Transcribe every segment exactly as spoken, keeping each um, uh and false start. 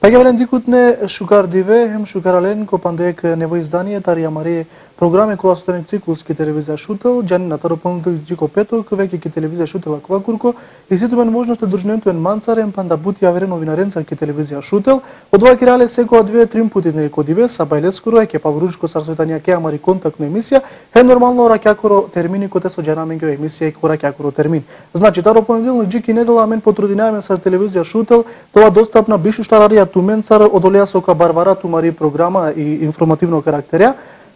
Така велен дикут не шукар диве, хем шукарален ко пандек нево издание тарија мари програми која стане циклуски телевизија шутел, џани на таро понудил дико петок, веќе ки телевизија шутела квакурко, и сите мен можност да дружнентуен манцарен панда бути аверен новинаренца ки телевизија шутел, од ова кирале секоја две три пути не ко диве, са бајлескоро е ке палуручко сарсојтанија ке амари контактна емисија, е нормално ракјакоро термини коте со џанаменге емисија и ко ракјакоро термин. Значи таро понеделник джики недела мен потрудинаваме со телевизија шутел, тоа достапна бишу штарарија туменцар одолеа со ка барвара тумари програма и информативно карактерја.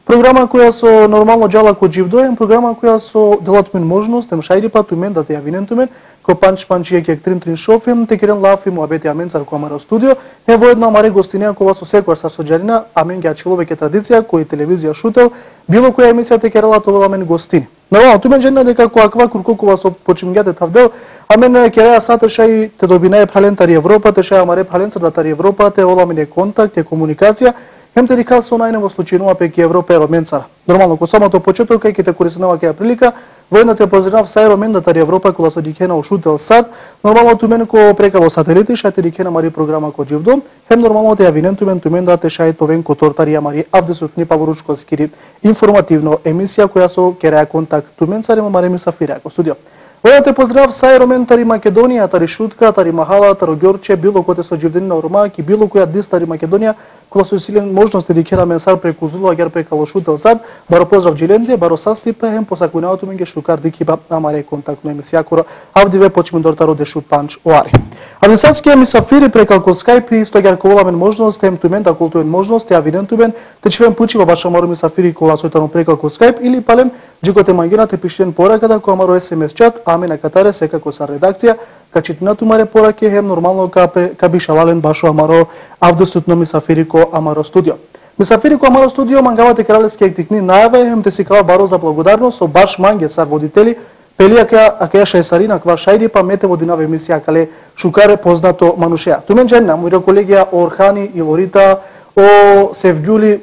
Програма која со нормално џала ко живдоем, програма која со делат мен можност, ем шајди па тумен да те ја винен тумен, ко панч панчије кек трин трин шофем, те керен лафи му абети аменцар ко амаро студио, е во една маре гостинија кога со секојаш са соџарина, амен ги ачиловеќе традиција, кој телевизија шутел, било која емисија те керела тоа мен гостини. Нормално, тумен джена дека која ква куркокова со почимгјате тавдел, амен кереа сата шај те добинае прален тари Европа, те шај амаре праленцар да тари Европа, те ола мене контакт, те комуникација, хем те рика со најне во случајнува пеки Европа е роменцара. Нормално, ко самото почеток, кај те користинава кеја прилика, војна те поздрав сај ромен да тари Европа кола со дикена у шутел сад, нормално тумен ко прекало сателити, шај те дикена мари програма ко живдом, хем нормално те ја винен тумен тумен да те шај товен ко тортарија мари авдесот ни палоручко скири информативно емисија која со кереа контакт тумен царима мари ми сафирија ко студио. Војна те поздрав сај ромен тари Македонија, тари Шутка, тари Махала, таро Ѓорче, било коте со живденина Ормак и било која дис тари Македонија, која со силен можности да кера менсар преку Зула, гер прекало шутел сад, баро поздрав джиленде, баро састипе, хем посакунаото менге шукар дикиба амаре контактно емисија коро авдиве почмун дортаро дешу панч оари. Адесатскија ми сафири прекал ко Скайп и сто гер ковала можност, хем тумен да култуен можност, ја виден тумен, те чевен пучива баша мару ми сафири кола сојтано прекал ко Скайп или палем джикоте мангена те пиштен пораката која маро ес ем ес чат, аме на катаре секако са редакција, качитина тумаре пораке хем нормално ка, ка бишалален башо амаро авдесутно мисафири ко амаро студио. Мисафири ко амаро студио мангавате кралевски ектикни најаве, хем те си кава баро за благодарност со баш манге сар водители, пелија ка акеја шајсарина ква шајди па мете водинава емисија кале шукаре познато манушеа. Тумен дженна, мојра колегија Орхани и Лорита, о Севгјули,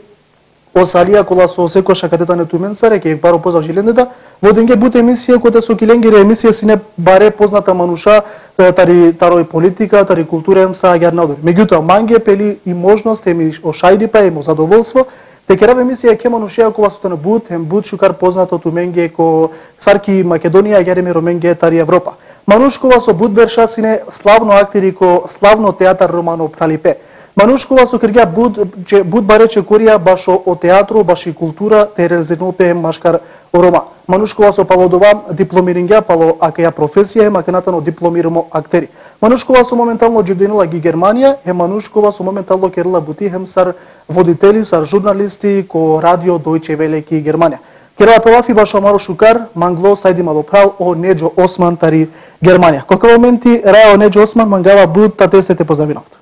о Салија кола со секоја катета на туменцаре, ке баро поздрав жилендета, воденге буте емисија која со киленгире емисија сине баре позната мануша, тари тарој политика, тари култура ем са агернадор. Меѓутоа манге пели и можност еми о шајди па емо задоволство, те керава емисија ке манушеа кога со на бут, ем бут шукар познато туменге ко сарки Македонија, гереме роменге тари Европа. Манушкова со бут берша сине славно актери ко славно театар Романо Пралипе. Манушкова со кирѓа буд, че буд барече корија башо о театру, баш и култура, те резенопе машкар о Рома. Манушкова со палодова дипломирингја, пало акеја професија, макенатано дипломирамо актери. Манушкова со моментално дживденила ги Германија, е Манушкова со моментално керила бути хем сар водители, сар журналисти ко радио Дојче Веле ки Германија. Керела пелафи башо амаро шукар, мангло сајди малоправ о Неџо Осман тари Германија. Кој моменти рао Неџо Осман мангава буд татесете поздравинавте.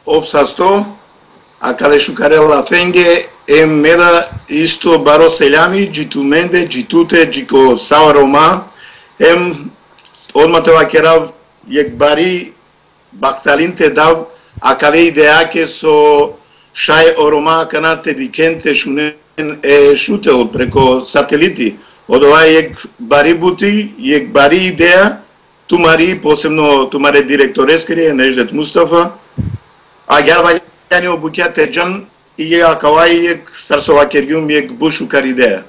Обсасто, а каде шукарела фенге е меда исто баро селјами, джитуменде, джитуте, джико сао Рома, ем одма това керав јек бари бакталинте дав, а каде идеаке со шај Орома канате викенте шунен е шутел преко сателити. Од ова јек бари бути, јек бари идеја, тумари, посебно тумаре директорескери, Неждет Мустафа, а гервајани обуќате джан и ја кавај јек сарсова кергјум јек бушу каридеја.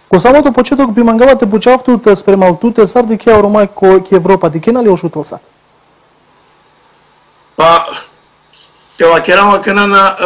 Ко самото почеток би мангавате почавтуте спремалтуте сар ди ке Орома ко ке Европа ди кена ли ошутел са? Па, тева керама кена на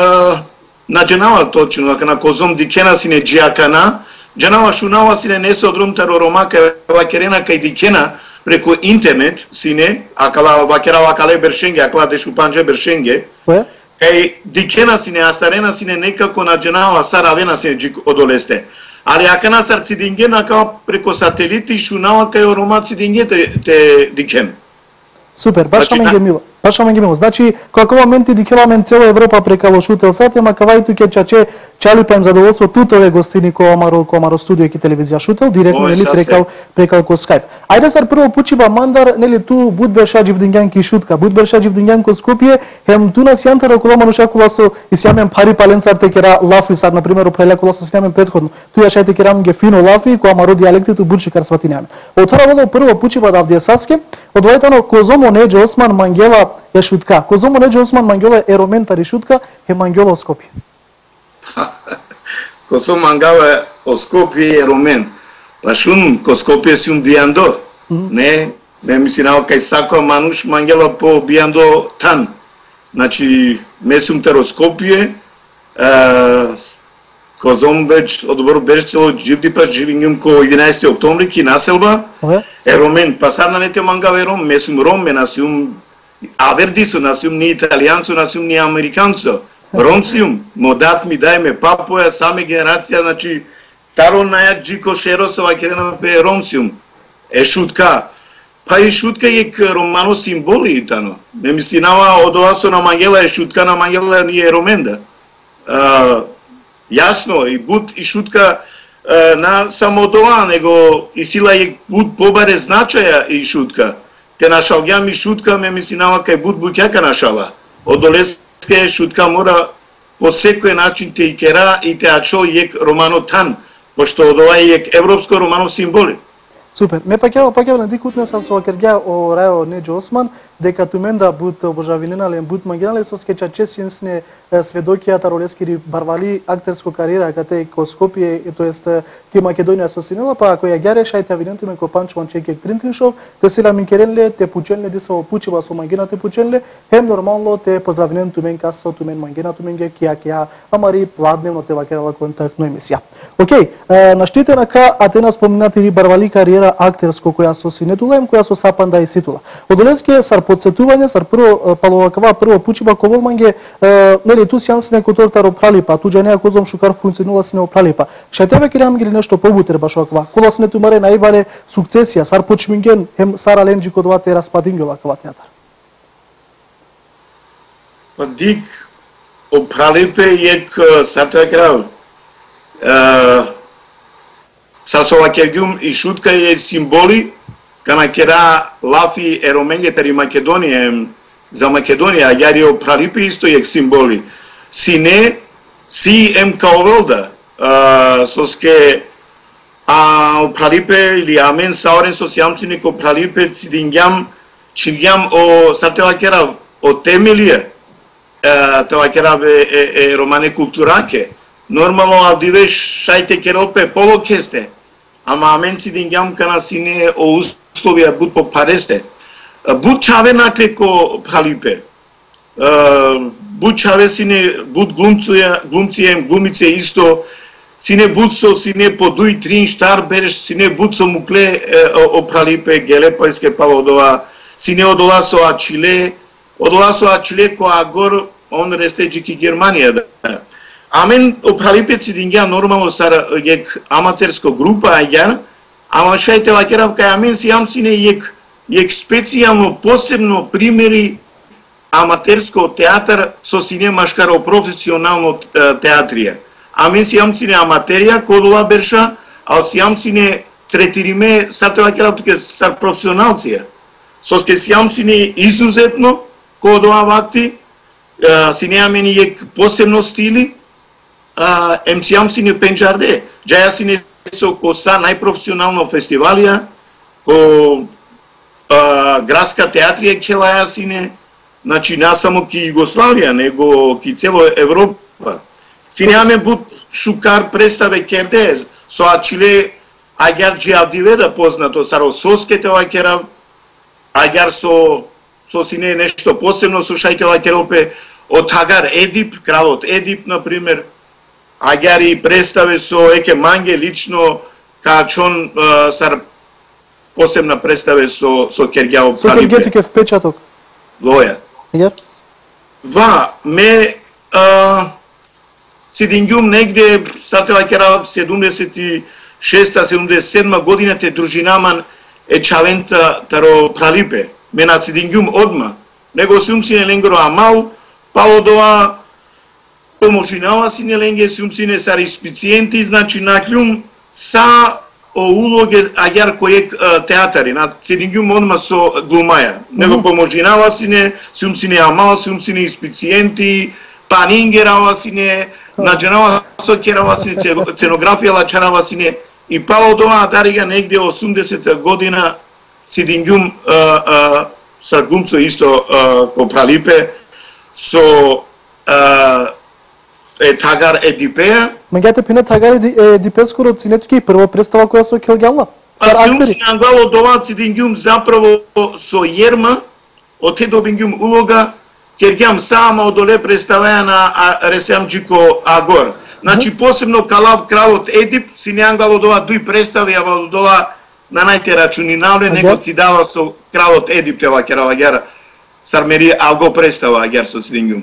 на дженава точно, кена козом ди кена сине джија кана, дженава шунава сине не се одрумтар Орома кева керена кај ди кена, преку интернет сине, акала вакера кале бершенге, акала дешу панџе бершенге. Кај дикена сине астарена сине некако на дженава саравена сине джик одолесте. Али акана сар цидинге нака преку сателити шунава кај Орома цидинге те, те дикен. Супер, баш менге мило. Баш менге мило. Значи, како моменти дикеламен цела Европа прекало шутел сат, ема кавајту ке чаче чали па им задоволство тутове гостини ко амаро ко амаро студио ки телевизија шутел директно нели прекал прекал ко Скайп. Ајде сар прво пучиба мандар нели ту будбер шаџив дингјанки шутка, будбер шаџив дингјанко Скопје, хем ту нас јантара кола мануша кола со исјамен пари паленцар те кера лафи сар на пример опреле кола со снемен претходно. Ту ја шајте керам ге фино лафи ко амаро дијалекти ту будши кар сватинаме. Отора водо прво пучиба да авдиесаске, одвојтано козомо Неџо Осман Мангела е шутка. Козомо неџе Осман Мангјола е роментари шутка, е Мангјола Скопје. Косо мангава о Скопје е ромен. Па шун ко Скопје сум бијандо. Не, ме мислинава кај сако мануш мангела по бијандо тан. Значи, ме сум таро Скопје, козом веќе одобро беше цело живди па живињум ко единаесети октомври ки населба. Е ромен, па сад на нете мангава е ром, ме сум ром, ме насум авердисо, насум ни италијанцо, насум ни американцо. Ром сум, модат ми дајме папоја, саме генерација, значи, таро најак джико шеросова керена пе ром сум. Е шутка. Па и шутка е романо символи и тано. Ме мислинава од ова со на Мангела е шутка на Мангела ни е роменда. Uh, јасно, и буд и шутка uh, на само тоа, него и сила е буд побаре значаја и шутка. Те нашалгјам и шутка, ме мислинава кај буд буќака нашала. Одолеске шутка мора по секој начин те и кера и те ачо ек романо тан, пошто од ова ек европско романо символи. Супер. Ме пакева пакева на дикутна са со кергја о рајо неџе Осман, дека туменда буд обожавиненален буд Мангенале со скеча чесинсне сведокија таролескири барвали актерско кариера кате ко Скопје, тоест ки Македонија со синела, па ако ја гјаре шајте авинентуме ко Панчман Чекек Тринтриншов, те сила минкеренле, те пученле диса опучива со Мангена те пученле, хем нормално те поздравинентумен касо тумен Мангена туменге кија кија амари пладневно те вакерала контактно емисија. Океј, на штите на ка Атена споминати барвали кариера актерско која со синетулем, која со сапанда и ситула. Одолеске сар подсетување, сар прво паловакава прво пучиба коволманге, нели ту сјансне котортар опралипа, туѓа неа козом шукар функционула сне опралипа. Шајтеве кирам гили нешто побутер баш оква. Кола сне тумаре најбаре сукцесија, сар почминген хем сара ленџи кодвате распадингјола кава театар. Па дик опралипе ек сартоја крав. Сасова кергјум и шутка е символи, кана кера лафи е роменге тари Македонија, за Македонија, јари о пралипи исто ек символи. Сине, си ем каовелда, соске, а о пралипе или амен саорен со сјамцини ко пралипе цидингјам, чингјам о сартела кера о темелија, тоа кера е романе култураке. Нормално авдивеш шајте керопе полокесте, ама амен цидингјам кана сине о условија буд по паресте. Буд чаве накле ко пралипе. Буд чаве сине, буд глумцуја, глумцијем, глумице исто, сине буд со сине по дуј трин штар береш, сине буд со мукле о пралипе, геле појске пало одова, сине одола со ачиле, одола со ачиле ко агор, он рестеджи ки Германија да. Амен о пралипе цидингја нормално сар ек аматерско група ајгар, ама шајте лакерав кај амен си јам сине ек ек специјално посебно примери аматерско театар со сине машкаро професионално театрија. Амен си јам сине аматерија кодола берша, ал си јам сине третириме сарте лакерав туке сар професионалција. Соске си јам сине изузетно кодола вакти, сине амен ек посебно стили, ем си јам сине пенџарде, џаја сине со коса најпрофесионално фестивалија, ко градска театрија келаја сине, значи не само ки Југославија, него ки цело Европа. Сине аме буд шукар представе керде, со ачиле аѓар џиавдиведа познато, саро соскете лакерав, аѓар со со сине нешто посебно со шајте лакеропе, од Хагар Едип, кралот Едип, например, аѓар и представе со еке манге лично, качон сар посебна представе со со Кергјао Пралипе. Со Кергетике впечаток. Лоја. Јар? Ва, ме сидингјум негде, сартела кера седумдесет и шеста седумдесет и седма година те дружинаман е чавента таро Пралипе. Ме на сидингјум одма. Него сум сине ленгро амал, пало доа поможинава сине ленге, сум сине сари спициенти, значи наклјум са о улоге аѓар кој театари, на сидингјум одма со глумаја. Него поможинава сине, сум сине амал, сум сине спициенти, панингерава сине, наџенава со керава сине, ценографија лачарава сине, и пало доа дарига негде осумдесета година сидингјум са глумцо исто ко Пралипе, со е Тагар Едипеја. Меѓуто пине Тагар Едипеја скоро цинето ќе прва представа која со Келгјалла. А сум си англало доваци дингјум заправо со Јерма, оте добингјум улога, кергјам сама одоле представаја на Реслам Джико Агор. Значи, посебно Калав кралот Едип, си не англало дова дуј представи, ава дова на најте рачунинале, него си дава со кралот Едип тева керава гера, сармери алго представа гер со сингјум.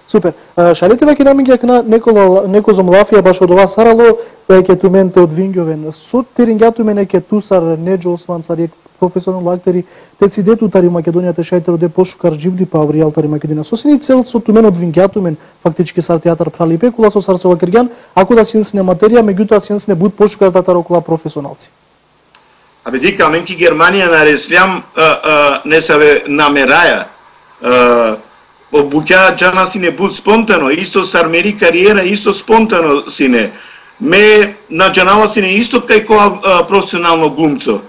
Супер. Шалите веќе намиѓа на некола неко зомлафија баш од ова сарало, веќе тументе од Вингјовен. Со терингјатумен еке тусар Неџо Осман сарјек професионал актери, те си детутари Македонијата шајтеро де пошукар живди па авријалтари Македонија. Со сини цел со тумен од Вингјатумен, фактички сар театар Пралипе, кула со Сарсова Киргјан, ако да синсне материја, меѓутоа синсне буд пошукар татар околу професионалци. Абе дика, менки Германија на Реслам не саве намераја, обуќа джана сине буд спонтано, исто сармери кариера, исто спонтано сине. Ме на джанава сине исто кај која професионално глумцо.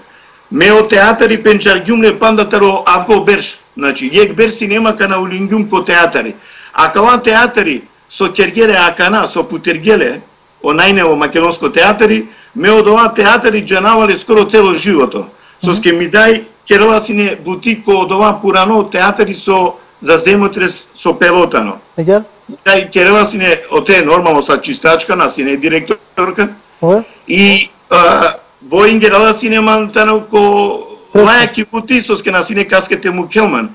Ме о театари пенчаргјум не пандатаро ако берш. Значи, јек берси нема кана улингјум ко театари. А кала театари со кергеле акана, со путергеле, о најнево македонско театари, ме од ова театари джанавале скоро цело живото. Со ске ми дај керела сине бутик од ова пурано театари со за земотрес со пелотано. Егер? Дај керела сине, оте нормално са чистачка, на сине директорка. Ое? И воингерала сине мантано ко лајаки бути со ске на сине каскете му келман.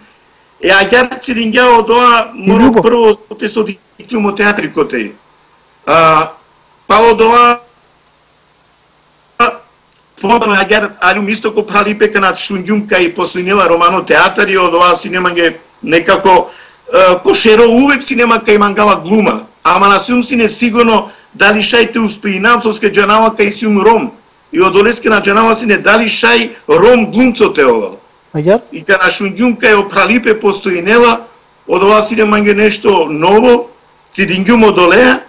Е агар цидингја од ова моро прво те со диклумо театри коте. Па од ова Фонтано агар алум исто ко Пралипе канат шунгјум кај посуинела романо театари од ова синеманге некако кошеро увек синема кај мангала глума. Ама на сум сине сигурно дали шајте успеинам со ске джанава кај сум ром. И од олеске на джанава сине дали шај ром глумцоте ова. Агар? И кај на шунгјум кај о Пралипе постоинела од ова синеманге нешто ново, цидингјум од олеа,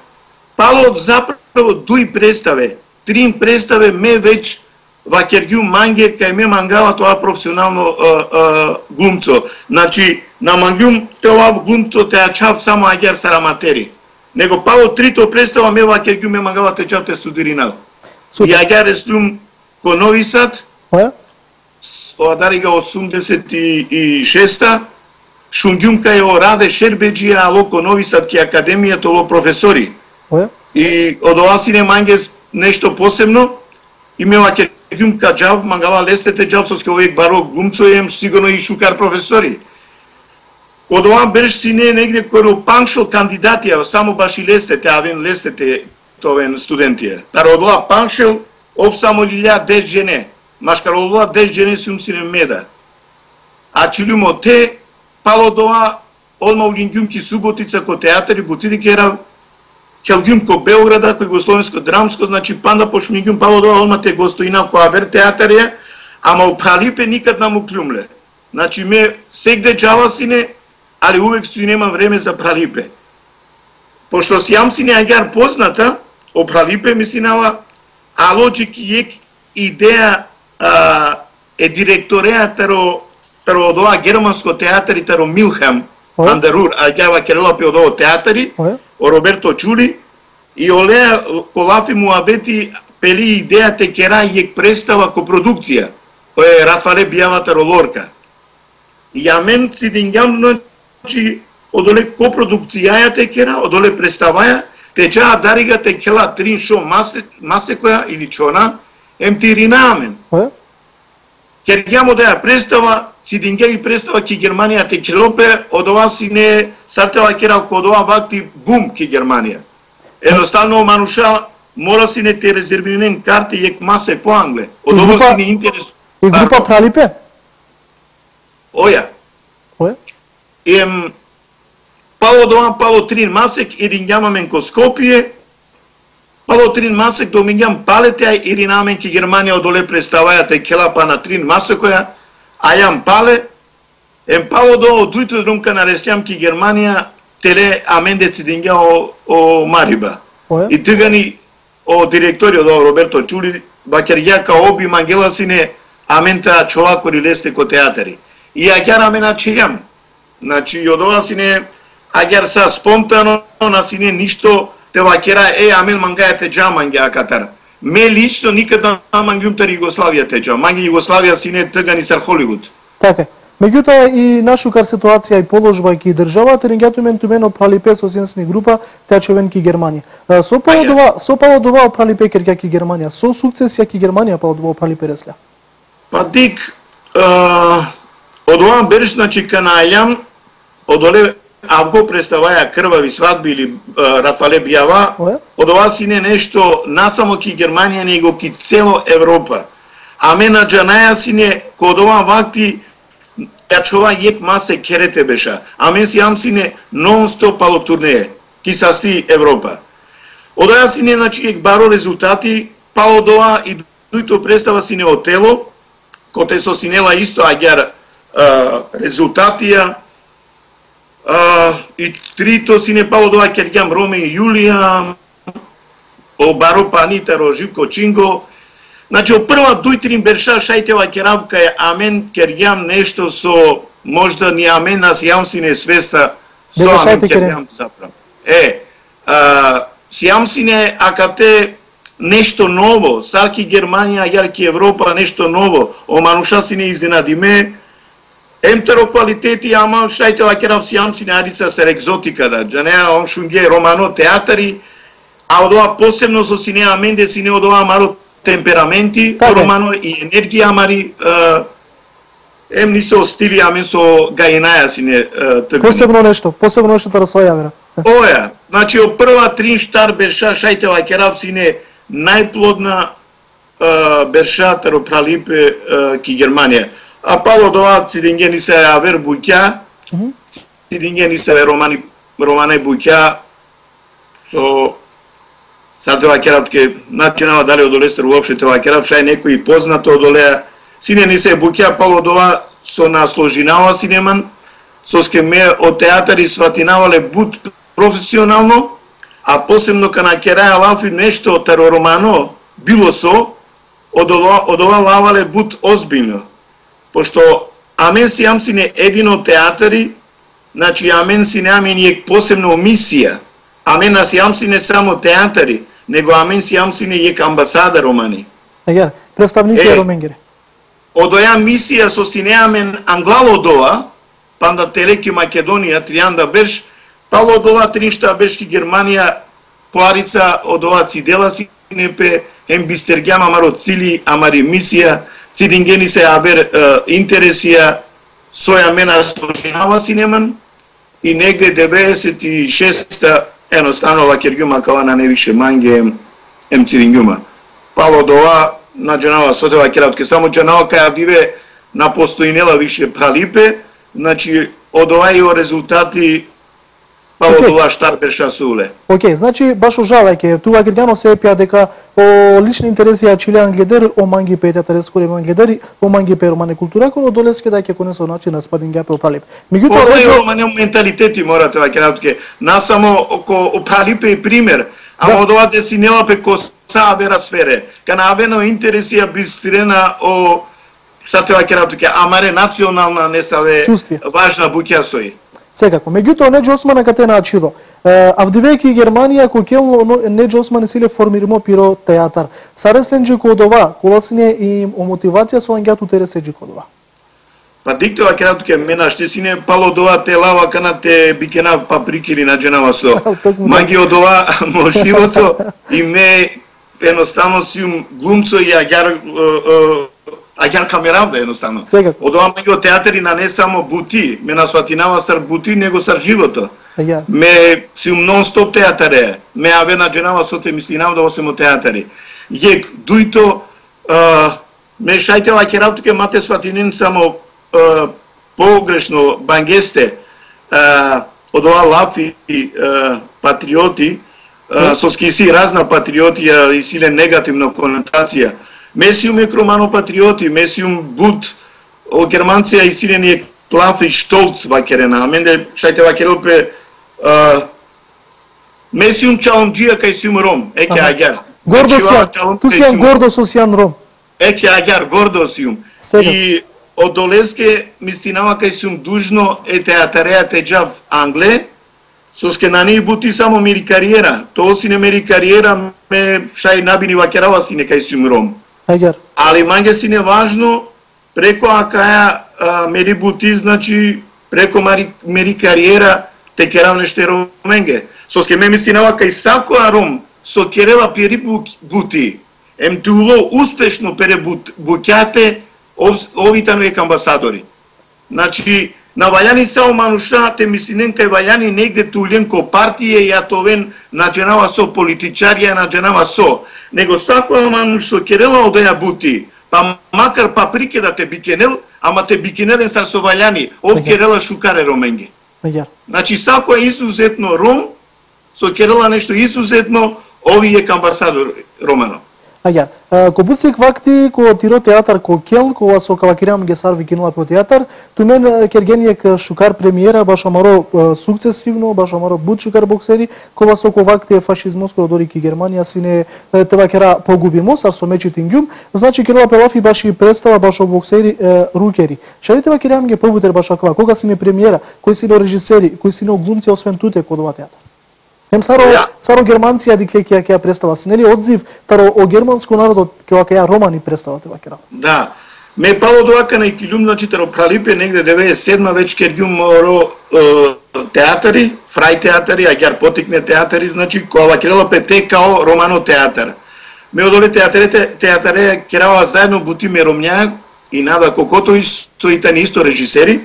пало заправо дуј представе. Трин представе ме веќе вакергјум манге кај ме мангава тоа професионално а, а, глумцо. Значи, на мангјум тоа глумцо те ачав само агер сараматери. Него пало трито представа ме вакергјум ме мангава те чав те студиринал. И агер естум ко Нови Сад, одарига осумдесет и шеста, шунгјум кај о Раде Шербеджија, ало ко Нови Сад ки академијата оло професори. И од ова сине манге нешто посебно, и ме вакергјум ка джав, мангала лестете джав со ске овек баро глумцо ем сигурно и шукар професори. Од ова береш сине негде кој паншо кандидатија, само баш и лестете, авен лестете товен студентија. Тар од ова паншел, ов само лилја дес жене, машкар од ова дес жене сум сине меда. А чилумо те, пало од ова, одма улингјум ки Суботица ко театари, бутиди керав, Келгјум ко Белграда, кој Југословенско драмско, значи панда пошмингјум пало дова, одма те гостоина ко Абер театарија, ама у Пралипе никад наму клюмле. Значи ме сегде джава сине, али увек си нема време за Пралипе. Пошто си јам сине агар позната, о Пралипе ми синава, а лоджик јек идеја а, е директореја таро, таро од ова германско театари, таро Милхам, Андерур, агава керелапи од ово театари, о Роберто Чули, и олеа колафи му абети пели идејата кера јек представа ко продукција, кој е Рафале Бијавата Ролорка. И ја мен си дингјам, значи, одоле ко продукцијаја те кера, одоле представаја, те джаа дарига те кела трин шо масе, масе која, или чона, ем ти ринамен. Кергјам одеја представа, си дингја и представа ки Германија те келопе, од ова си не сартела кера код ова вакти бум ки Германија. Едноставно мануша мора си не те резервирен карти јек масе по англе. Од ова си не интерес. И група Пралипе? Оја. Оја? Ем пало од ова пало трин масек и рингјамамен ко Скопје, пало трин масек до минјам палете и ринамен ки Германија одоле представајате келапа на трин масекоја, а јам пале, ем пало до дујто друмка на Реслам ки Германија теле аменде цидингја о, о Мариба. Оја? И тигани о директориот о Роберто Чули, бакер ја ка оби мангела сине амента човакори лесте ко театари. и агар амена чејам. Значи, од ова си не, агар са спонтано, на си не ништо, те вакера, е, амен мангајате джа мангаја Катар. Ме лично никада мангјум тар Југославија теча. Манги Југославија си не тъга ни сар Холивуд. Така. Меѓутоа и нашукар ситуација и положба ки држава теренгјату мен тумено пралипе со сенсни група течовен ки Германија. Со палодова, со палодова пралипе керка ки Германија, со сукцесија ки Германија палодова пралипе ресля. Па дик од ова берш значи канајам одоле ако представаја крвави свадби или Рафале Бијава, од ова си не нешто насамо ки Германија него ки цело Европа. А мена джанаја си не код ова вакти ја чова јек масе керете беша. А мен си ам си не нон-стоп пало турнеje, ки саси Европа. Од ова си не значи јек баро резултати, па од ова и дуито представа си не отело, коте со синела исто агјар резултатија, Uh, и трито си не пало дова кергјам Роме и Јулија, о Баро Панитаро, Живко Чинго. Значи, о прва дујтрин берша шајтева керавка е амен кергјам нешто со, можда ни амен нас јам си не свеста со амен кергјам заправ. Е, uh, си јам си не акате нешто ново, сарки Германија, јарки Европа, нешто ново, о мануша си не изненадиме, емтеро квалитети, ама шајте вакерав си јам си нарица сер екзотика да, джанеа он шунге романо театари, а од ова посебно со сине аменде сине од ова маро темпераменти, романо и енергија мари, ем ни со стили, амен со гајенаја сине тъкани. Посебно нешто, посебно нешто да расоја вера. Оја, значи од прва трин штар берша шајте вакерав сине најплодна берша таро пралипе ки Германија. А пало дова цидингени се авер буќа, цидингени се романи романе буќа со сад ова керапке начинава дали од олестер уопште тоа керап шај некој познато од олеа сине ни се буќа пало дова со насложинава синеман со скеме од театари сватинавале бут професионално, а посебно кана кераја лафи нешто таро романо било со од ова од ова лавале бут озбилно. Пошто амен си јам си не едино театари, значи амен си не амен јек посебно мисија, амен нас јам си не само театари, него амен си јам си не јек амбасада романи. Егер, представници роменгери. Од оја мисија со си не амен англало доа, панда телеки Македонија, тријанда берш, пало од ова триншта бершки Германија, поарица од ова цидела си непе, ем бистергјама маро цили, амари мисија, цидингени се абер интересија соја мена сложинава синеман и негде деветдесет и шеста едноставно вакергјума кава на невише манге ем, ем цидингјума. Пало дова на джанава сотева кератке, само джанава каја биве на постоинела више пралипе, значи од овај резултати пало okay. Дова штар берша суле. Океј, okay, значи баш ожалајке, туа Григано се епија дека о лични интереси ја чилеан гледер, о манги пејте тарескоре ман гледери, о манги пе романе култура, кој долеске да ќе конесо начин на спадин гапе опалип. Меѓутоа речо романе менталитети морате да ќе радке. Насамо око опалипе и пример, ама да. Од ова де си нела пе коса вера сфере. Кана авено интереси ја бистрена о сатева ќе радке, амаре национална не саве важна буќа сој. Секако. Меѓутоа Неџо Осман кате начило. Авдивејќи Германија кој кело Неџо Осман силе формиримо пиро театар. Саресенџи код ова, коласне и о мотивација со ангјату тереседжи код ова. Па диктова кратке мена ште сине пало дова те лава кана те бикена паприкили на дженава со. Маги од ова моживото и ме едноставно сиум глумцо и агар агар камеравда едноставно. Од ова маги од театри на не само бути, ме насватинава сар бути, него сар живото. Ме сиум нон-стоп театаре, ме аве на дженава со те мислинав да осемо театари. Јек дуито ме шајтела ке равтуке мате сватинен само погрешно бангесте од ова лафи патриоти, со скиси разна патриотија и силе негативна конотација. Месиум е кромано патриоти, месиум буд, о германција и силен е клафи штолц вакерена, а менде шајте вакерелпе месиум чаломджија кај сиум ром, еке агар. Гордо сијан, ту сијан гордо со сијан ром. Еке агар, гордо сиум. И од долеске ми стинава кај сум дужно е театареја теџав Англе, со скенани бути само мери кариера. Тоа си не мери кариера, ме шај набини вакерава си не кај сум ром. Агар. Али манге си не важно, преко акаја мери бути, значи, преко мери, мери кариера, те керав неште роменге. Со ске ме ми стинава кај сакоа ром, со керела пери бути, ем дуло успешно пере буќате овите нови амбасадори. Значи, на вајани само мануша, те мислинен кај вајани негде тулен ко партија и атовен надженава со политичарија, надженава со. Него сакоа мануш со керела одеја бути, па макар паприке да те бикенел, ама те бикенелен сар со вајани, ов керела шукаре роменге. Значи, сакоа изузетно ром, со керела нешто изузетно, овие амбасадор Романо. Агар, ко буцик вакти ко тиро театар ко кел, ко со кавакирам ге сар викинуа по театар, ту мен кергениек шукар премиера баш амаро сукцесивно, баш амаро бут шукар боксери, ко со ко вакти фашизмос ко дори ки Германија сине тевакера погубимо сар со мечи тингјум, значи кенова пелафи баш и представа баш о боксери рукери. Шали тевакирам ге побутер баш аква, кога сине премиера, кои сине режисери, кои сине глумци освен туте ко дова театар. Ем саро yeah. саро германција дикле ќе ќе представа, нели одзив таро о германско народот ќе ќе романи представате вакера. Да. Ме пало доака на Икилум, значи таро пралипе негде деветдесет и седма веќе кергјум моро театари, фрај театари, агар потикне театари, значи која вакерела пете као романо театар. Ме одоле театарите театаре керава заедно бутиме ромња и Нада Кокотович со итани исто режисери.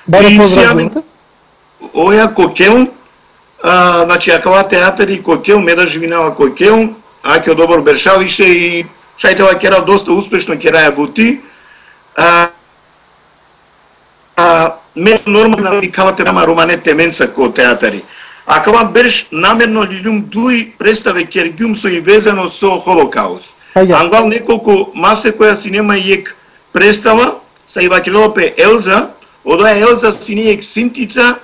Баре поздравувате. Оја Кокел, а, значи акава театари Кокел, меда живинава Кокел, аќе добро бершавише и шајтева керав доста успешно кераја бути. А, а, ме нормално викавате рама романете менца ко театари. А кава берш намерно лилум дуи представе кергјум со и везано со Холокаус. Ангал неколку масе која си нема иек представа, са и вакилопе Елза, одоја Елза си не иек синтица,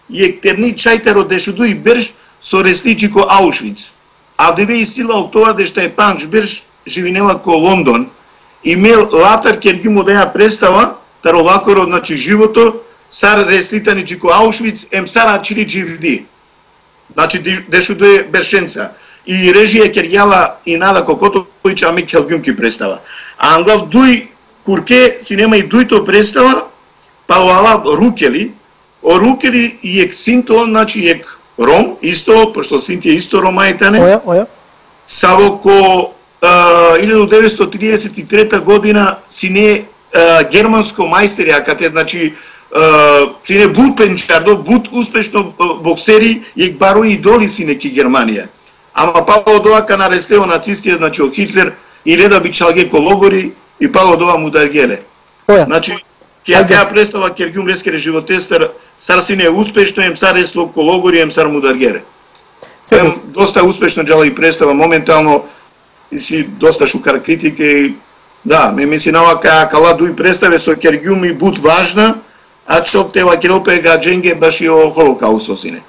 иек терни чајтеро дешуду и берш со ресличи ко Аушвиц. А деве и сила од тоа дешта е панч берш живинела ко Лондон, и мел латар кергјум одеја представа, таро лакоро, значи живото, сар реслитани ко Аушвиц, ем сара чили дживди. Значи дешуду е бершенца. И режија кергјала и Нада Кокотович, ами келгјум ки представа. А ангал дуј курке си нема и дујто представа, па оала рукели, о рукели и ек синто, значи ек ром, исто, пошто синти е исто ромајтане. Оја, оја. Саво ко илјадум деветстотини триесет и трета година си не германско мајстери, а кате, значи, си не бут пенчардо, бут успешно боксери, ек барои идоли си неки Германија. Ама пало доака на реслео нацистија, значи о Хитлер, и леда би чалге ко логори, и пало доа му даргеле. Значи, ќе ја представа кергјум лескере животестер, сар си не успешно, ем сар ресло ко логори, ем сар му даргеле. Ем доста успешно джала и представа, моментално, и си доста шукар критике, и да, ме мислинава каја кала дуи представе со кергјум и бут важна, а чок тева келопе гадженге баш и о Холокаусо сине.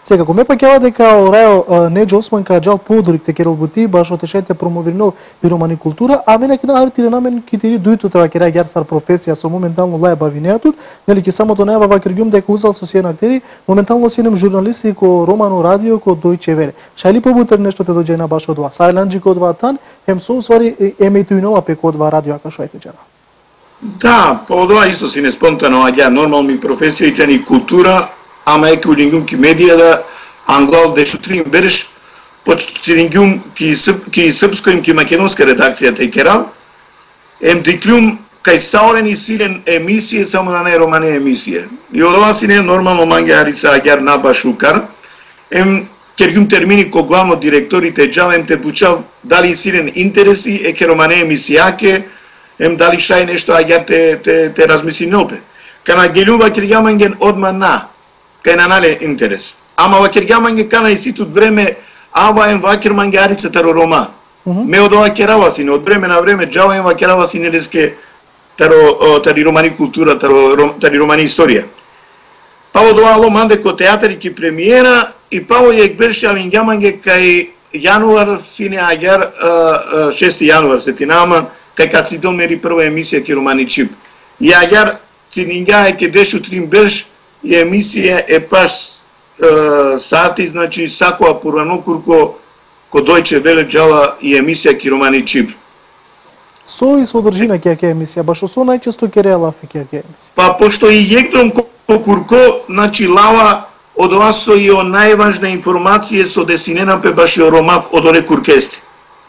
Сега, ко ме пакела дека Рајо Неџо Осман кај джал подорик те керол бути, баш отешете промовирнал пиромани култура, а мене ке нагартире намен китири дујто треба ке раѓар сар професија со моментално лаја бавинеатут, нели ке само донева вакергјум дека узал со сиен актери, моментално синем журналисти ко Романо радио, ко Дојче Веле. Шајли побутер нешто те доđe на баш од ова? Сајланџи ко два тан, ем со усвари емејтуинова пеко од два радио, ака шо е течера. Да, по ова исто си не спонтано, аѓа нормално ми професијите ни култура, ама еки улингум ки медија да англал дешутрим береш почтингум ки срп ки српско им ки македонска редакција те керал ем диклум кај саурени силен емисија само на не романе емисија. И од ова си не нормално манге ариса агар на башукар ем кергум термини ко главно директорите джалем те пучал дали силен интереси е ке романе емисијаке ем дали шај нешто агар те те те размисли нопе. Кана гелува кергаманген одма на кај нанале интерес. Ама вакергаманге кана и ситут време ава ем вакерманге арица таро рома. Uh -huh. Ме од ова керава сине, од време на време джава ем вакерава сине леске таро тари романи култура, таро ром, тари романи историја. Па од ова ломанде ко театари ки премиера и паво јек берше авингаманге кај јануар сине агар шести јануар сетинама кај Кацидон мери прва емисија ки романи чип. И агар цининга е ке дешу трим берш и емисија е паш е, сати, значи сакоа порано курко ко Дојче Веле джала и емисија Киромани Чип. Со и содржина ке ке емисија, башо со најчесто ке реалафи ке ке емисија. Па пошто и јекдром ко курко, значи лава од ова со и о најважна информација со десинена пе баш и о ромак од оле куркесте.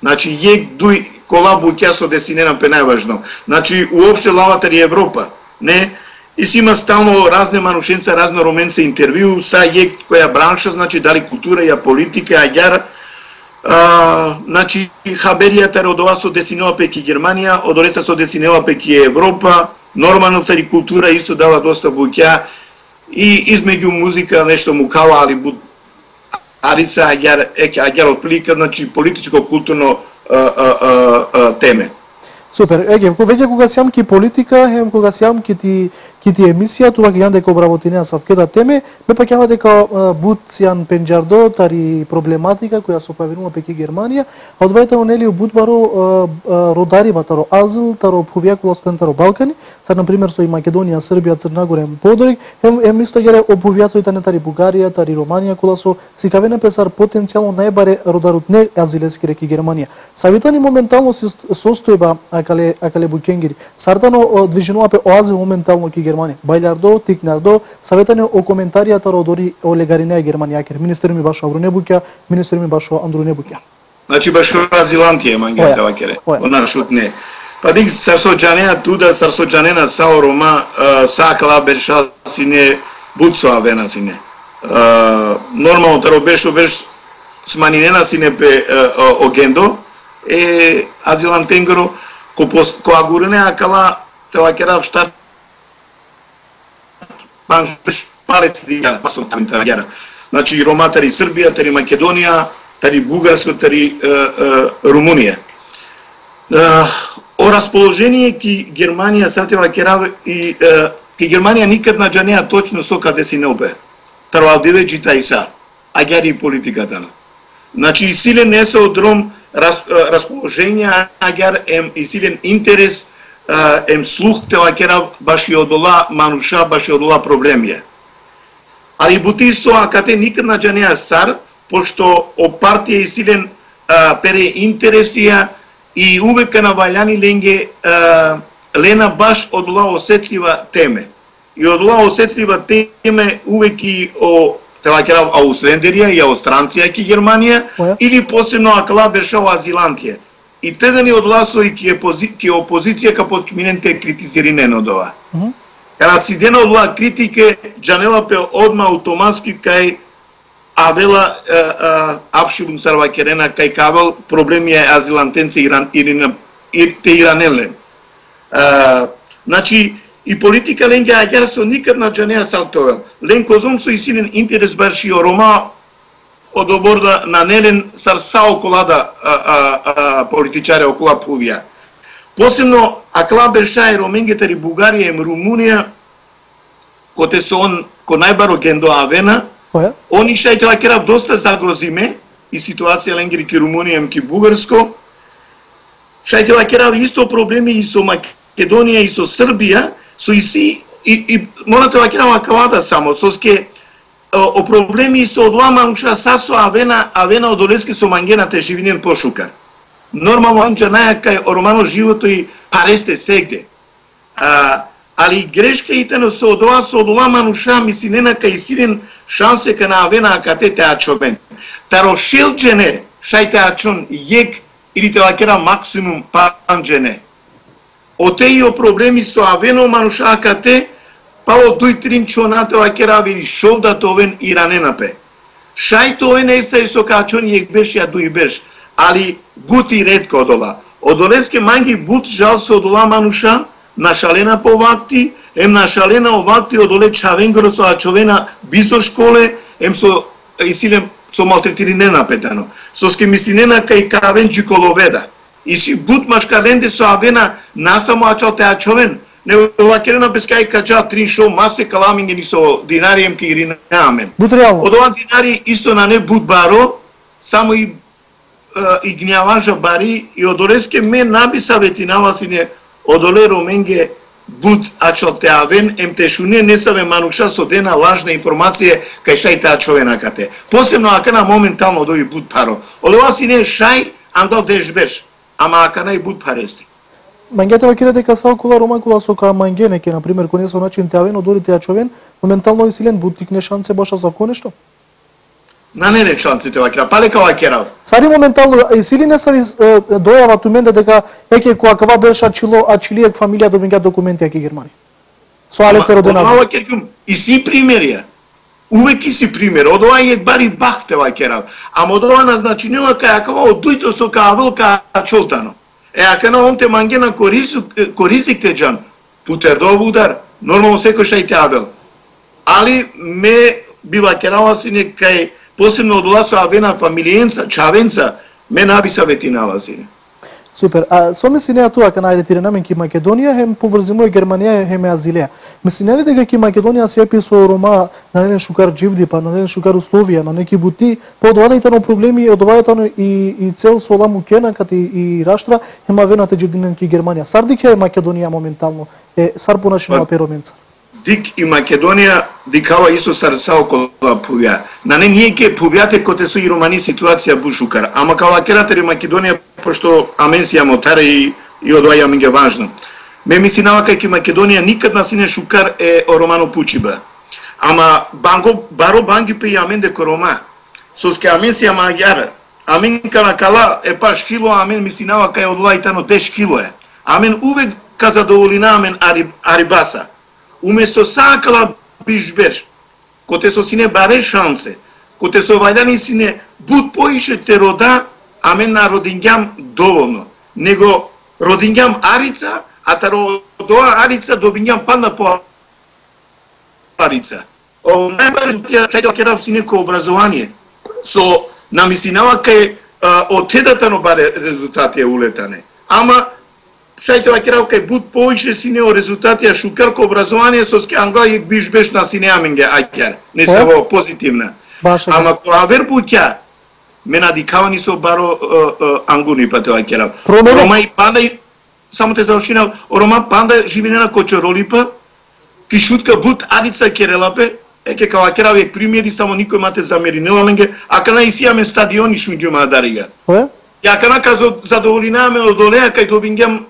Значи јек дуј колабу ќе со десинена пе најважно. Значи уопште лавата и Европа, не? И си има стално разне манушенца, разне роменца интервју, са јек која бранша, значи дали култура ја политика, аѓар, а, значи хаберијата од ова со десинела пе ки Германија, од ореста со десинела пе ки Европа, нормално тари култура исто дава доста буќа и измеѓу музика нешто му кала, али буд ариса аѓар еќе аѓар отплика, значи политичко културно а, а, а, а, теме. Супер. Еге, веќе кога сјам ки политика, ем кога сјам ки ти ки ти емисија, тука ќе јан дека обработинеа савкета теме, ме паќава дека бут сјан пенџардо тари проблематика која се појавила пеки Германија, а одвајтаво нели бут баро родарива таро азил, таро повјакула студентаро Балкани, сад на пример со и Македонија, Србија, Црна Гора, ем подорик, ем ем исто гере оповјацо и тане тари Бугарија, тари Романија, кола со сикавена песар потенцијално најбаре родарот не азилески реки Германија. Савитани моментално се состојба акале акале букенгири. Сартано движенува пе оазил моментално ки Германија. Бајлардо, Тикнардо, саветане о коментаријата родори о легаринеја Германија, кер министер ми башо Авро Небуќа, министер ми башо Андру Небуќа. Значи башо азилантија мангета вакере. Она шутне. Па дик сарсоџанена туда, сарсоџанена сао Рома, сакала беша сине буцо авена сине. Нормално таро бешо беш сманинена сине пе огендо, е азилантенгро, ко агурене акала телакера в штат панш палец дига пасо тамитагера. Значи Рома тари Србија, тари Македонија, тари Бугарска, тари Румунија. О расположение ки Германија сатела керав и ки Германија никад на джанеа точно со каде си не обе. Таро алдиве джита и са. Аѓари политиката на. Значи силен не се одром расположение, аѓар ем и силен интерес, ем слух тела керав баш и одола мануша, баш и одола проблемија. Али бути со акате никад на джанеа сар, пошто о партија и силен пере интересија и увека на валјани ленге лена баш одола осетлива теме. И одола осетлива теме увеки о телакерав Ауслендерија и Аустранција ки Германија, yeah. Или посебно акала бешава азилантија. И тедани одласо и ки, ки опозиција ка почминенте критизиринен од ова. Mm -hmm. Кара цидена одла критике, джанела пе одма автоматски кај авела апшибун сарвакерена кај кавел проблеми е азилантенце иран ирина ирте иранеле. Значи и политика ленге аѓар со никад на джанеа салтовел. Лен козом со и силен интерес барши о Рома од оборда на нелен сар са околада политичаре окола пувија. Посебно акла берша е Роменгетари Бугарија и Румунија, коте со он ко најбаро гендо авена, они шајте лакерав доста загрозиме и ситуација ленгери ки Румунија ки Бугарско. Шајте лакерав исто проблеми и со Македонија и со Србија, со и си и, и морате лакерав акалада само со ске о проблеми со одламануша са со авена авена одолески со мангената живинен пошукар. Нормално анча наја кај романо живото и паресте сегде. А, али грешка итено со одола со одламануша мислинена кај силен шансе ка на авена акатете ачовен. Таро шелджене шајте ачон јек или те лакера максимум панджене. Отеи о проблеми со авено мануша акате пало дуј трин чонате лакера вели шовда товен и раненапе. Шајто овен есај со качон јек беш ја дуј беш, али бути ретко одола. Одолеске манги бут жал со одола мануша, нашалена по вакти, ем нашалена о вакти одоле чавенгро со ачовена бизо школе, ем со исилем со малтретиринена петано. Со ске мислинена кај кавен джиколоведа. И си бут машкаленде со авена насамо ачал те ачовен. Не лакерена бескај каджа трин шо масе каламингени со динарием ки иринаамен. Од ова динари исто на не бут баро, само и и гњаважа бари и одолеске ме наби саветинава сине одоле Роменге буд ачал те авен ем те шуне не саве мануша со дена лажна информација кај шај таа човенакате. Посебно акана моментално дои буд паро. Олева си не шај андал дежбеш, ама акана и буд парести. Мангете вакире дека сао кола рома кола со ка мангене ке на пример коне со начин те авен одори те човен, моментално и силен буд тикне шансе баша за вко нешто. На не не шансите вакира, палека вакира. Сари моментално и сили не сари дојава ту менде дека еќе која кава беше ачило ачилиек фамилија добинга документи аки Германија. Со алете родена. Ова керкум и си примерија. Увек и си пример. Од ова е бари бахте вакира. Ама од ова назначинила кај акава од дујто со кавел ка чолтано. Е ака на онте мангена коризик коризикте джан. Путер до удар. Нормално секој шај абел. Али ме бива керала си некај посебно од ова со авена фамилиенца, чавенца, ме наби саветинава сине. Супер. А со мислења тоа кај најретирамен ки Македонија хем поврзимува Германија хем Азилија. Мислење ли дека ки Македонија се епи со рома на нелен шукар дживди, па на нелен шукар условија, на неки бути, по одвадајтано проблеми, одвадајтано и и цел со ламу кена кати и раштра, хем авената дживдинен ки Германија. Сардик е Македонија моментално е сар понашинува пероменца. Дик и Македонија дикава исто сарсао кола пувја. На не ние ке пувјате коте со и романи ситуација бушукар. Ама кала кератери Македонија, пошто аменсија мотаре и, и одваја ми ге важно. Ме мислинава кај ке Македонија никад на сине шукар е о романо пучиба. Ама банго, баро банги пе и амен деко рома. Соске аменсија магјара. Амен кана кала е паш кило, амен мислинава кај одваја тано десет кило е. Амен увек ка задоволина амен ари, арибаса. Уместо сакала бишбеш, коте со сине баре шансе, коте со вајдани сине буд поише те рода, амен на родингјам доволно. Него родингјам арица, а та родоа арица добингјам панда по арица. О, најбаре чајто керав сине ко образование. Со намислинава кај отедатано баре резултати е улетане. Ама шајте вакерав кај буд поише сине о резултати а шукарко образование со ски англа и биш беш на сине аменге ајкер. Не се во позитивна. Ама која вербуќа ме надикавани со баро ангуни пате вакерав. Рома и панда и само те завршинав, рома панда живене на Кочоролипа, ки шутка буд арица керелапе, еке кава керав е примери само никој мате замери неламенге, а кана и сијаме стадиони шунгјума дарига. Ја кана казо задоволинаме од олеа кај добингјам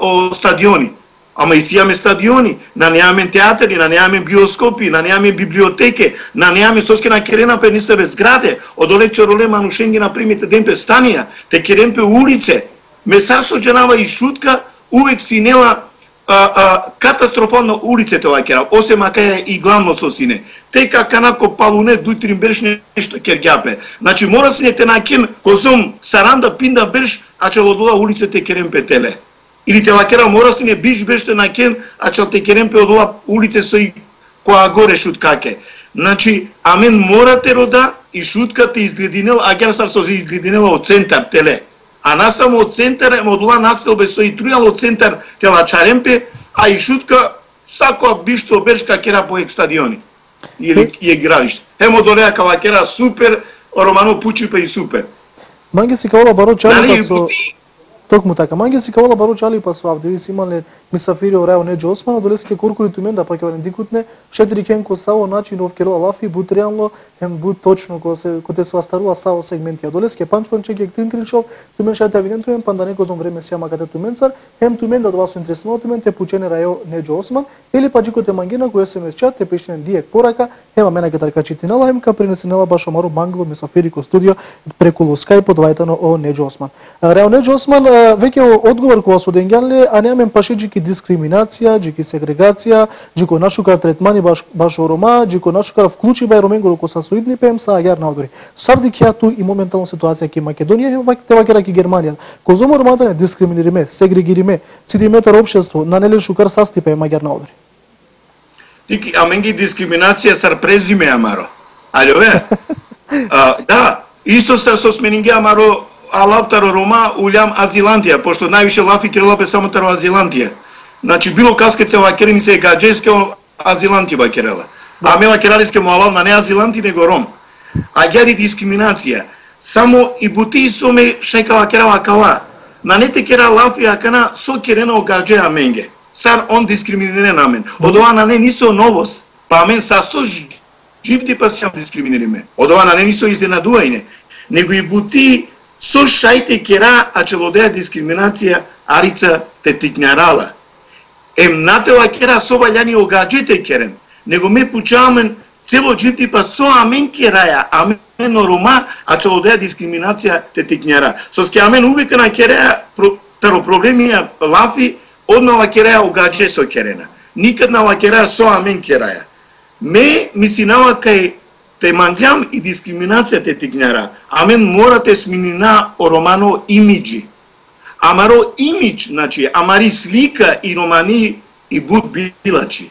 о стадиони. Ама и сијаме стадиони, на неаме театри, на неаме биоскопи, на неаме библиотеке, на неаме соске на керена пе нисебе зграде, од оле чороле манушенги на примите ден пе станија, те керен пе улице. Месарство джанава и шутка, увек синела а, а, катастрофално улиците вакера, осем акаја и главно со сине. Те каканако палуне дујтрин берш нешто кергјапе. Значи мора сине те накен козом саранда пинда берш, а че од ова улиците керен пе теле. Или те вакера мора сине биш беште накен, а че те керен пе од ова улице со и која горе шуткаке. Значи амен морате рода и шутката изглединел, а герсар со изглединела од центар теле. А нас само од центар, од ова населбе со и трујал од центар тела чаремпе, а и шутка сакоа бишто бершка кера по екстадиони. Или и игралиште. Емо дореа кава кера супер, романо пучипе и супер. Манге си кавала баро чали со токму така. Манге си кавала баро чали па со авдеви си имале мисафири орао неџо османо, долеске куркури тумен да паке вален дикутне, четири кенко сао начин овкеро лафи, бут реално, хем бут точно ко се коте се астаруа сао сегментија. Долеске панч панчек ек тринтриншов, тумен шајте авинен тумен, панда неко зон време сиама кате тумен цар, хем тумен да два со интересно тумен, те пучене рајо неџо осман, или па джикоте мангина кој се месчат, те пишнен диек порака, хема мене ке тарка читинала, хем ка принесенела баш омару мангло мисафири ко студио преку Скајп подвајтано о неџо осман. Рајо неџо осман веќе одговор кога со денгјанле, а неамен пашиџики дискриминација, джики сегрегација, джико нашукар третмани баш баш орома, джико нашукар вклучи бај роменго ко са соидни пем са агар на одори. Сарди ќе ту и моментално ситуација ки Македонија е те вакера ки Германија. Козомо ромата не дискриминириме, сегрегириме, цидиметар општество, на неле шукар састипе магар на одори. Тики аменги дискриминација сар презиме амаро. Алјо е. Да, исто стар со сменинге амаро алавтаро рома улјам Азилантија, пошто највише лафи керелапе само таро Азилантија. Значи било каскете вакерени се гаджеске Азиланти вакерела. А мела кералиске му алав на не Азиланти него ром. А гјари дискриминација. Само и бути соме шајка вакера вакала. На не те кера лафи акана со керена о гадже аменге. сар он дискриминиран амен. Од ова на не нисо новост, па амен састо живти па сам дискриминириме. Од ова на не нисо изненадување, него и бути со шајте кера, а челодеја дискриминација арица те тикнарала. Ем натела кера со ваљани огаđете керен, него ме пучамен цело живти па со амен кераја, амен рома, а челодеја дискриминација те тикнара. Со ски амен увека на кераја таро проблемија лафи, одна лакераја огаđе со керена. Никад на лакераја со амен кераја. Ме мисинава кај те манглям и дискриминација те тикнара. Амен мора те сминина о романо имиджи. Амаро имидж, значи, амари слика и романи и буд билачи.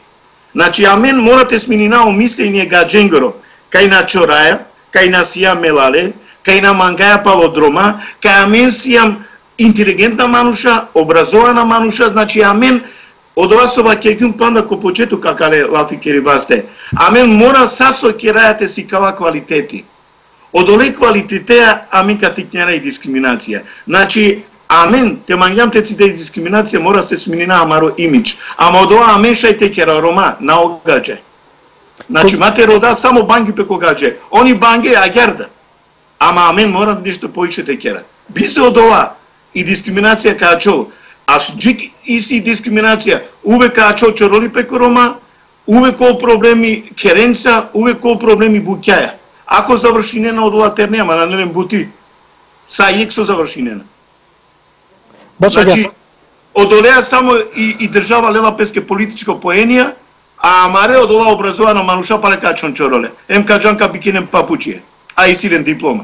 Значи, амен мора те сминина о мислење гадженгоро. Кај на чораја, кај на сија мелале, кај на мангаја палодрома, кај амен сијам интелигентна мануша, образована мануша, значи амен од ова со вакегјум панда ко почету какале лафи керибасте. Амен мора сасо керајате си кава квалитети. Од оле квалитетеа амен катикњара и дискриминација. Значи, амен, те манѓам те ците и дискриминација мора сте сминина амаро имидж. Ама од ова амен шајте кера рома на огаđе. Значи, мате рода само банги пеко гаđе. Они банге агерда. Ама амен мора нешто поише те кера. Бизе од ова и дискриминација каачол. Аш джик иси дискриминација, увек каачол чороли пеко рома, увек кол проблеми керенца, увек кол проблеми буќаја. Ако завршинена од ова терне, ама на нелем бути, са јек со завршинена. Значи, од олеа само и, и држава лела песке политичко поенија, а амаре од ова образована мануша пале качон чороле. Ем каджанка бикинем папучије, а и силен диплома.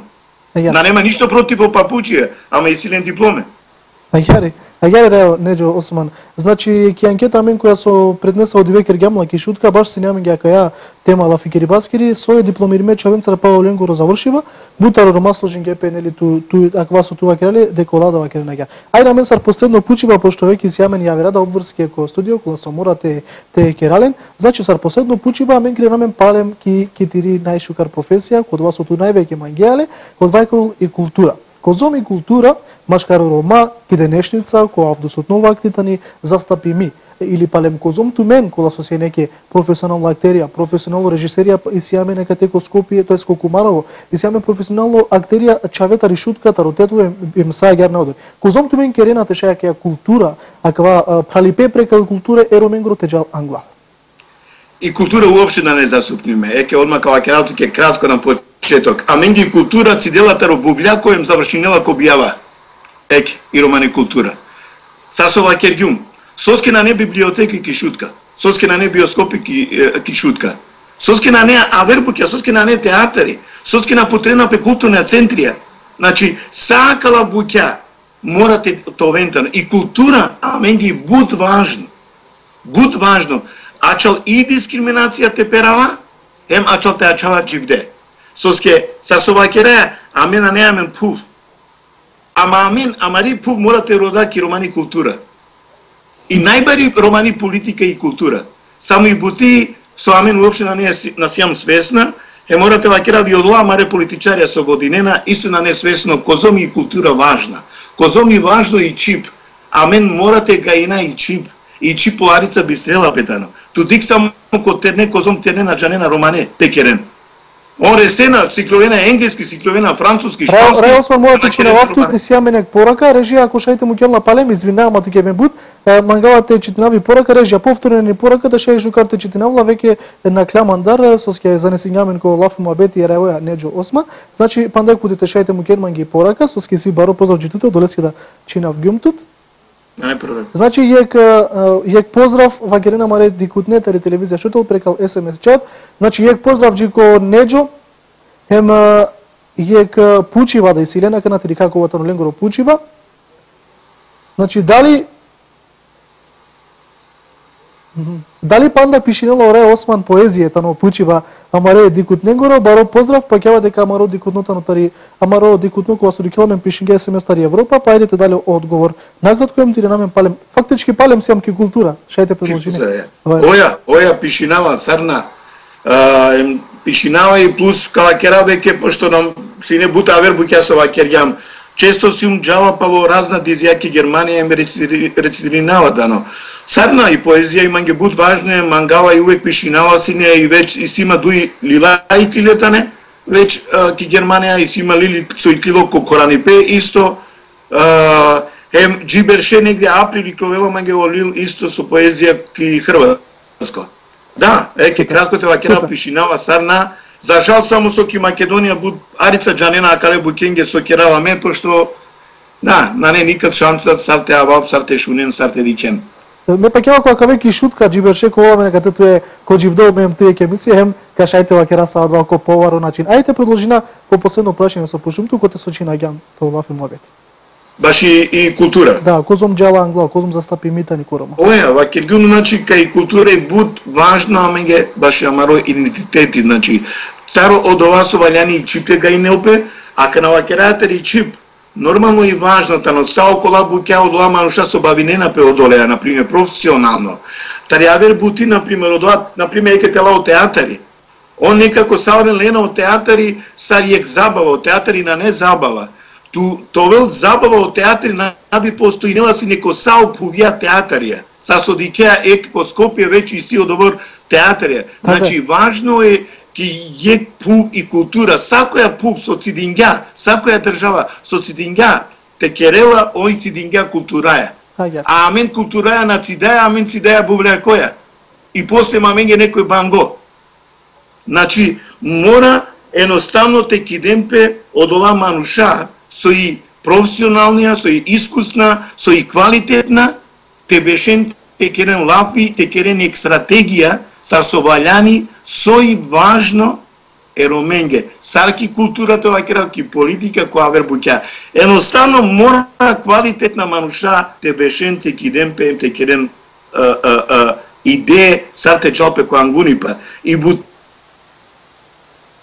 Да нема ништо против о папучије, ама и силен дипломе. Ајари, ајари рео, Неđо Осман. Значи, ки анкета амен која со преднеса од Ивекер Гјамла ки шутка, баш се нямам гјака ја тема лафи керибаскири, сој дипломириме чавенцара Павел Ленгоро завршива, бутаро ромасложен гепе, нели, ту, ту, аква со това керали, деколадова керена гја. Ајра мен сар последно пучива, пошто веќе си јамен ја верада обврски ко студио, кола со мора те, те керален, значи сар последно пучива, амен кренамен палем ки, ки тири најшукар професија, код вас ту највеќе мангијале, код вајкол и култура. Козом и култура, машкаро рома, ки денешница, која авдосот нова актитани, застапи ми. Или палем козом ту мен, кола со се неке професионална актерија, професионално режисерија, и си јаме нека теко Скопје, тој Скокумарово, и си јаме професионално актерија, чавета ришутка, таротетво, им са гар на одор. Козом ту мен керената шеја култура, аква пралипе прекал култура, еро мен гротеджал англа. И култура уопште да не засупниме. Еке одма кава кералто ке кратко на почеток. А менги култура циделата робувља којем завршинела ко објава. Еке, и романи култура. Сасова кергјум. Соске на не библиотеки ки шутка. Соске на не биоскопи ки, ки шутка. Соске на не авербуќа, соске на не театари. Соске на потрена пе културна центрија. Значи, сакала буќа морате товентано. И култура, а менги буд важно. Буд важно. Ачал и дискриминација те перава, ем ачал те ачава дживде. Соске, сасова кереја, амен а не амен пув. Ама амен, амари пув мора те рода ки романи култура. И најбари романи политика и култура. Само и бути, со амен уопште на не насијам свесна, е морате лакера ви одла амаре политичарија со годинена, исто на не свесно, козом и култура важна. Козом и важно и чип. Амен морате гаина и чип. И чип поларица би стрела петано. Тудик само ко терне, козом терне на джанена романе, текерен. Он ресена, цикловена енглески, цикловена француски, шпански. Реално сме мојата че на вафтут не си јаме порака, режија ако шајте му ќелна палем, извинавам, а туке ме буд, мангалате читинави порака, режија повторена порака, да шај жукарте читинавла, веќе на клямандар, со ске занесињамен ко лафу муабети ераоја Неđо Осман, значи пандек кудите шајте му ќелман ги порака, со ске си баро поздрав джитуте, долески да чинав гюмтут. Значи, јек, јек поздрав, вакерена маре дикутне, тари телевизија шутел, прекал ес ем ес чат. Значи, јек поздрав джико Неđо, ем јек пучива да исилена, кана тери како ватано ленгоро пучива. Значи, дали дали панда пишинела оре Осман поезијата но пучива амаре дикут ненгоро, баро поздрав, па ќава дека амаро дикутнота на тари, амаро дикутно кога со дикелмен пишинге ес ем ес тари Европа, па ајдете дали одговор. Накратко им тире намен палем, фактички палем сиам ки култура, шајте предложини. Оја, оја пишинава царна, пишинава и плюс калакера веќе, пошто нам си не бута авербуќа со вакерјам, често си ум джава па во разна дизјаки Германија им рецидинава дано. Сарна и поезија имам ге буд важне, мангала и увек пишинава сине и веќе и сима дуи лила и тилетане, веќе ки Германија и сима лили сојтило ко Коранипе исто, ем джиберше негде април и кловела манге олил исто со поезија ки Хрватско. Да, е ке кратко те вакера пишинава Сарна, за жал само со ки Македонија буд Арица Джанена акале букенге со кераваме, пошто да, на не никад шанса сарте авап, сарте шунен, сарте дикен. Ме пак ева кога веќе шутка джиберше ко оваме нека ту е ко дживдол мем тие ке мисли хем кашајте вакера са два ко поваро начин. Ајте продолжина по последно прашање со пушум ту коте со чинаѓам то лафи мобет. Баш и, и култура. Да, козом джала англа, козом застапи митани корома. Оја, вакергун значи кај култура и буд важно аменге баш амаро идентитети значи. Таро од ова со валјани чипте га и неопе, а кана вакерајате и чип нормално и важната, но сао кола буќа од ова мануша со бавинена пе одолеа, например, професионално. Тариавер бути, например, од ова, например, еке тела од театари. Он некако саорен лена од театари, сариек забава, од театари на не забава. Ту, товел забава од театари на би постоинела си неко сао пувија театарија. Са со дикеа ек по Скопје веќе и си одобор театарија. Значи, важно е ки е пув и култура, сакоја пув со цидингја, сакоја држава со цидингја, те керела ој цидингја култураја. А амен култураја на цидаја, амен цидаја бувлеја која. И после маменге некој банго. Значи, мора еноставно те кидемпе од ова мануша, со и професионалнија, со и искусна, со и квалитетна, те бешен те керен лафи, те керен ек стратегија, са со валјани, со и важно ероменге. Сарки културата вакера ки политика која вербуќа. Еноставно мора квалитетна мануша те бешен те кидемпе, те керен идеја, сар те джалпе која ангунипа. И бут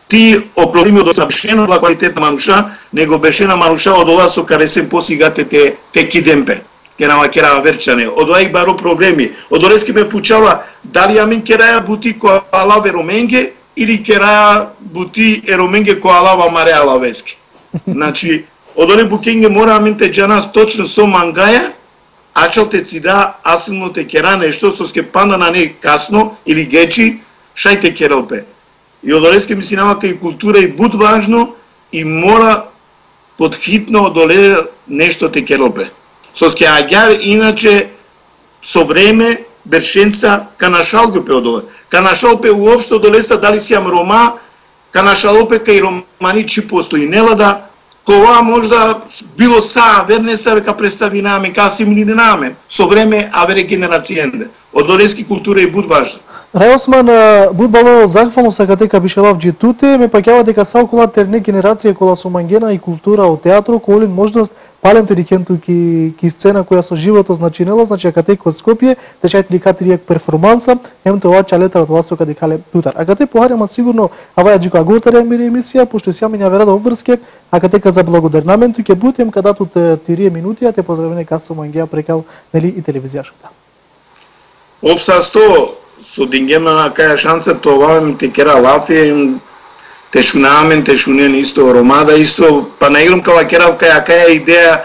ти о проблеми од бешена квалитетна мануша, него бешена мануша од ова со каресен посигате те, те кидемпе. Ке нама кера верчане. Од ова и баро проблеми. Од Орески ме пучава дали амин кераја бути која алаве роменге или кераја бути ероменге која алава маре алавески. Значи, од Оре букенге мора амин те джанас точно со мангаја, ачал те цида, асилно те кера нешто, со ске панда на не касно или гечи, шај те кералпе. И од Орески ми си нама кај култура и буд важно и мора подхитно одоле нешто те кералпе. Со ске аѓар, иначе, со време, бершенца, канашалгопе од ова. Канашалпе уопшто долеста дали си ам рома, канашалопе кај романи чи постои. Нела да, кога можда било са, верне са, века представи намен, ка си мили намен. Со време, авере генерацијенде. Од Орески култура и буд важно. Рај Осман, буд бало захвално сака дека бишелав джитуте, ме пакјава дека сау кола терне генерација кола со мангена и култура од театро, колин можност палем терикенту ки, ки сцена која со живото значинела, значи акате код Скопје, течајте ли катријек перформанса, ем тоа чалетар од вас каде кале тутар. Акате похарема сигурно аваја джико агортаре мири емисија, пошто си амиња верада обврске, акате ка за благодарнаменто ќе бутем кадату тирие минути, а те поздравене касо мангеа прекал нели и телевизија шута. Обсасто со дингема на каја шанса тоа ми те кера лафи, те шунамен, те шунен исто ромада исто, па на играм кава керав каја каја идеја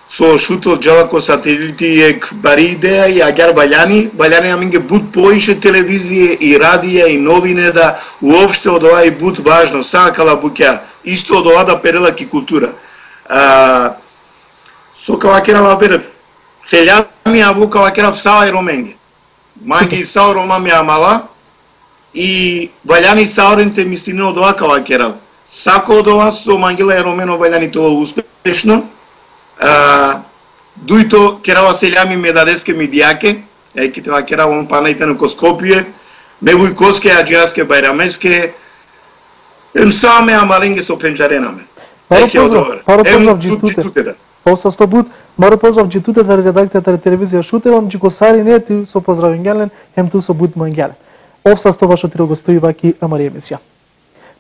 со шутел джалако сателити ек бари идеја и агар балјани, балјани аминге буд поише телевизија и радија и новине да уопште од ова и буд важно, сакала буќа, исто од ова да перела ки култура. А, со кава керав берев, селјами аву кава керав сава и роменге. Манги и сао рома ми амала, и валјани саоренте мислине од ова кава керав. Сако од ова со мангела и ромено валјани тоа успешно. А, дуито керава селјами ме дадеске ми дијаке, еки тоа керава он панајте на Скопје, ме вујкоске, аџијаске, бајрамеске, ем саме амаленге со пенџаренаме. Паро поздрав, паро поздрав джитуте. Полса сто бут, маро поздрав джитуте на редакцијата на телевизија Шутелам, джико сари не ти со поздравењален, хем ту со бут мангелен. Овса сто вашо тиро гостои ваки амари емисија.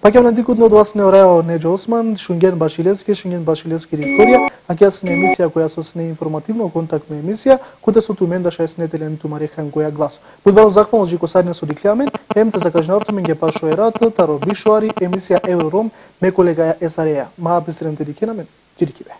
Пакем на дикот од вас не орајао Неџо Осман, Шунген Башилевски, Шунген Башилевски историја, а ќе сне емисија која со сне информативно контактна емисија, која со тумен да шајснетелен тумарехан која глас. Будбало захвално джико сарне со диклјамен, ем те закажнавтумен ге пашо ерат, таро бишоари, емисија Еврором, ме колега Есареја. Маа присреден те дикенамен, джирики бе.